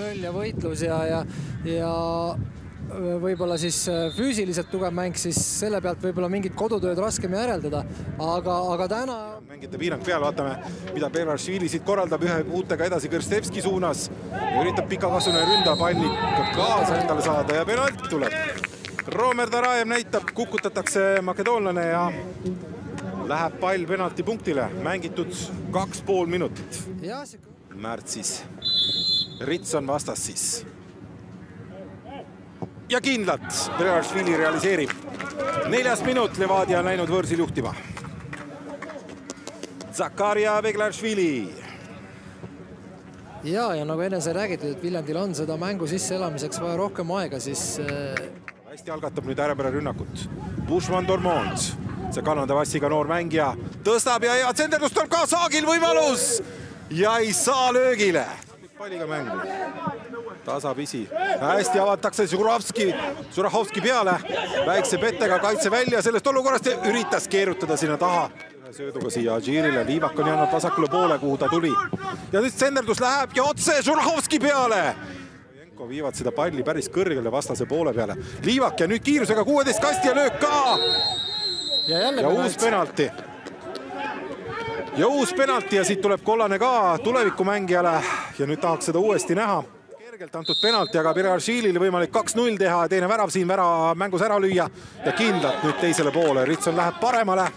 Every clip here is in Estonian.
kontroll ja võitlus ja võib-olla siis füüsiliselt tugev mäng, siis selle pealt võib-olla mingit kodutööd raskem järeldada, aga täna... Mängite piirang peal, vaatame, mida Belaršvili siit korraldab ühe uutega edasi Krstevski suunas ja üritab pikakasvune ründa palli kaasa endale saada ja penalt tuleb. Romer Darajev näitab, kukutatakse makedoonlane ja läheb pall penalti punktile, mängitud 2,5 minutit. Märtsis Ritson vastas siis. Ja kindlalt Belaršvili realiseerib. 4. minut Levadia on läinud võõrsil juhtima. Zakaria Belaršvili. Ja nagu enne sai räägitud, et Viljandil on seda mängu sisse elamiseks vaja rohkem aega, siis... Hästi algatab nüüd äärepära rünnakut. Bushman Dormond. See Kanada vassiga noor mängija tõstab ja hea tsenderdus tuleb ka Saagil võimalus. Ja ei saa löögile. Palliga mängu. Tasapisi. Hästi avatakse Žurahovski peale. Väikse pettega kaitse välja sellest olukorrast ja üritas keerutada sinna taha. Sööduga siia Adžirile. Liivak on jäänud vasakule poole, kuhu ta tuli. Ja nüüd tsenderdus läheb ja otse Žurahovski peale. Jenko viivad seda palli päris kõrgele vastase poole peale. Liivak ja nüüd kiirusega 16 kasti ja löök ka. Ja uus penalti. Ja uus penalti ja siit tuleb kollane ka tulevikumängijale ja nüüd tahaks seda uuesti näha. Kergelt antud penalti, aga Belaršvilil võimalik 2-0 teha ja teine värav siin mängus ära lüüa ja kindlalt nüüd teisele poole. Ritson läheb paremale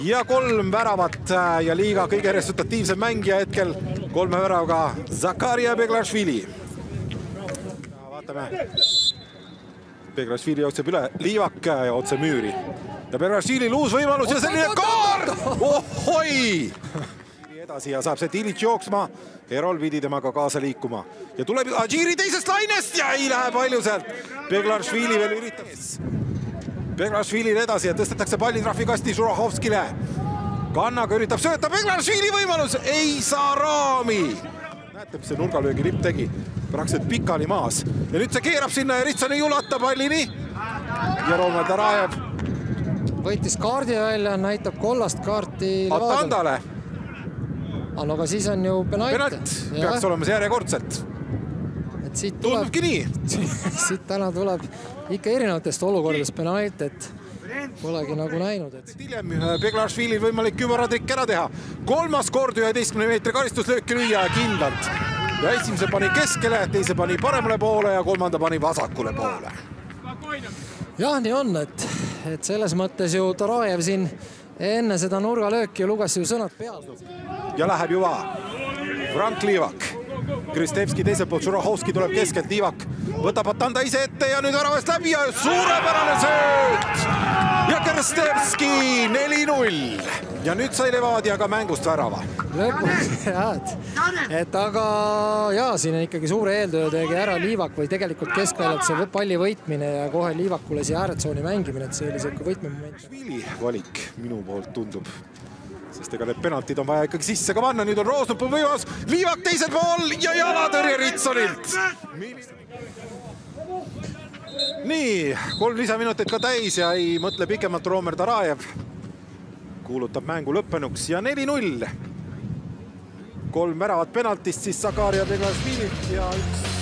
ja 3 väravat ja liiga kõige resultatiivsem mängija hetkel 3 väravaga Zakaria Belaršvili. Vaatame. Belaršvili jookseb üle Liivak ja otse müüri. Ja Belaršvilil uus võimalus ja selline kaar! Ohoi! Edasi ja saab see Tilic jooksma. Erol pidi temaga kaasa liikuma. Ja tuleb Adžiri teisest lainest ja ei lähe palju sealt. Belaršvili veel üritab. Belaršvilil edasi ja tõstetakse palli trahvikasti Žurahovskile. Kannaga üritab sööta. Belaršvili võimalus ei saa raami. Näete, mis see nurgalöögi lipp tegi. Praktiliselt pikali maas. Ja nüüd see keerab sinna ja Ritson ei ulata pallini. Ja Romer Darajev võitis kaardi välja, näitab kollast kaarti Atandale. No aga siis on ju penalt. Peaks olema see järjekordselt. Tundubki nii. Siit täna tuleb ikka erinevatest olukordadest penalt, et polegi nagu näinud. Hiljem Belaršvilil võimalik kübaradrik ära teha. 3. kord 11 meetri karistuslööki lüüa kindlalt. Ja esimese pani keskele, teise pani paremale poole ja 3. pani vasakule poole. Jah, nii on, et selles mõttes ju Darajev siin enne seda nurgalööki luges ju sõnad peal. Ja läheb juba Frank Liivak. Krstevski teiselt poolt, Žurahovski tuleb keskelt, Liivak võtab Atanda ise ette ja nüüd väravast läbi ja suurepärane sööt! Ja Krstevski 4-0. Ja nüüd sai Levadia ka mängust värava. Lõpuks, et aga siin on ikkagi suure eeltöö tegi ära Liivak või tegelikult keskväljalt see palli võitmine ja kohe Liivakule siia ääretsooni mängimine, et see oli see võitmemoment. Vili valik minu poolt tundub, sest ega need penaltid on vaja ikkagi sisse ka panna. Nüüd on Roosnupul võimalus, Liivak teisel pool ja jalatõrje Ritsonilt. Nii, 3 lisaminutit ka täis ja ei mõtle pikemalt Romer Darajev. Kuulutab mängu lõppenuks ja 4-0. 3 väravat penaltist siis Zakaria Belaršvililt ja 1